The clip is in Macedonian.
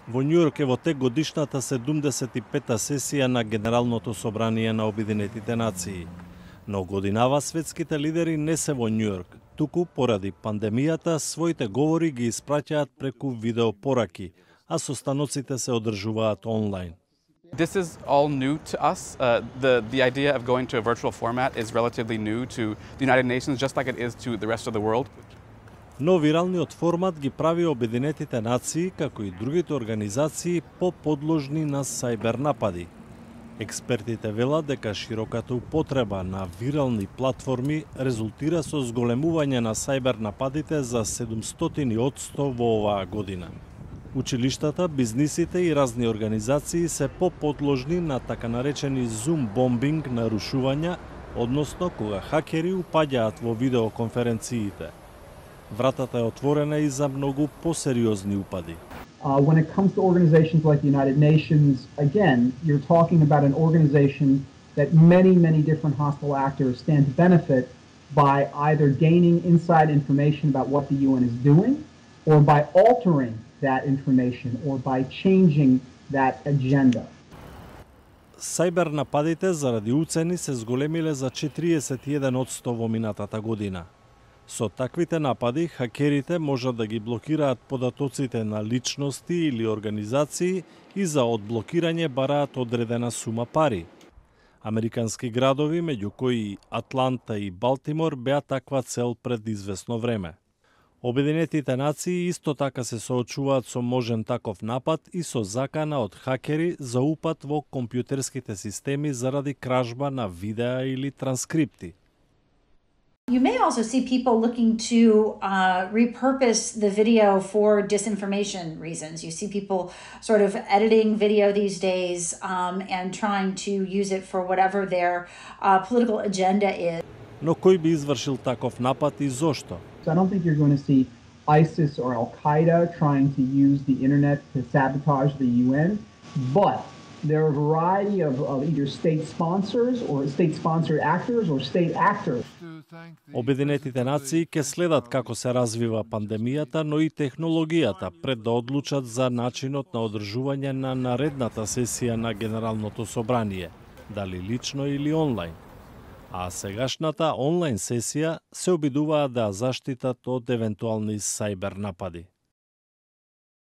Во Њујорк е во тек годишната 75-та сесија на Генералното собрание на Обединетите нации. Но годинава светските лидери не се во Њујорк, туку поради пандемијата своите говори ги испраќаат преку видеопораки, а состаноците се одржуваат онлайн. This is all new to us. The idea of going to a virtual format is relatively new to the United Nations, just like it is to the rest of the world. Но виралниот формат ги прави Обединетите нации, како и другите организации, поподложни на сајбер напади. Експертите велат дека широката употреба на вирални платформи резултира со зголемување на сајбер нападите за 700% во оваа година. Училиштата, бизнисите и разни организации се поподложни на така наречени Zoom бомбинг нарушувања, односно кога хакери упаѓаат во видеоконференциите. Вратата е отворена и за многу посериозни упади. When it comes to organizations like the United Nations, again, you're talking about an organization that many different hostile actors stand to benefit by either gaining inside information about what the UN is doing, or by altering that information, or by changing that agenda. Сајбер нападите заради уцени се зголемиле за 41% во минатата година. Со таквите напади, хакерите можат да ги блокираат податоците на личности или организации и за одблокирање бараат одредена сума пари. Американски градови, меѓу кои Атланта и Балтимор, беа таква цел пред извесно време. Обединетите нации исто така се соочуваат со можен таков напад и со закана од хакери за упад во компјутерските системи заради кражба на видеа или транскрипти. You may also see people looking to repurpose the video for disinformation reasons. You see people sort of editing video these days and trying to use it for whatever their political agenda is. Но кој би извршил таков напад и зошто? So I don't think you're going to see ISIS or Al-Qaeda trying to use the internet to sabotage the UN, but there are a variety of either state sponsors or state-sponsored actors or state actors. Обединетите нации ќе следат како се развива пандемијата, но и технологијата пред да одлучат за начинот на одржување на наредната сесија на Генералното собрание, дали лично или онлайн. А сегашната онлайн сесија се обидуваат да заштитат од евентуални сајбер напади.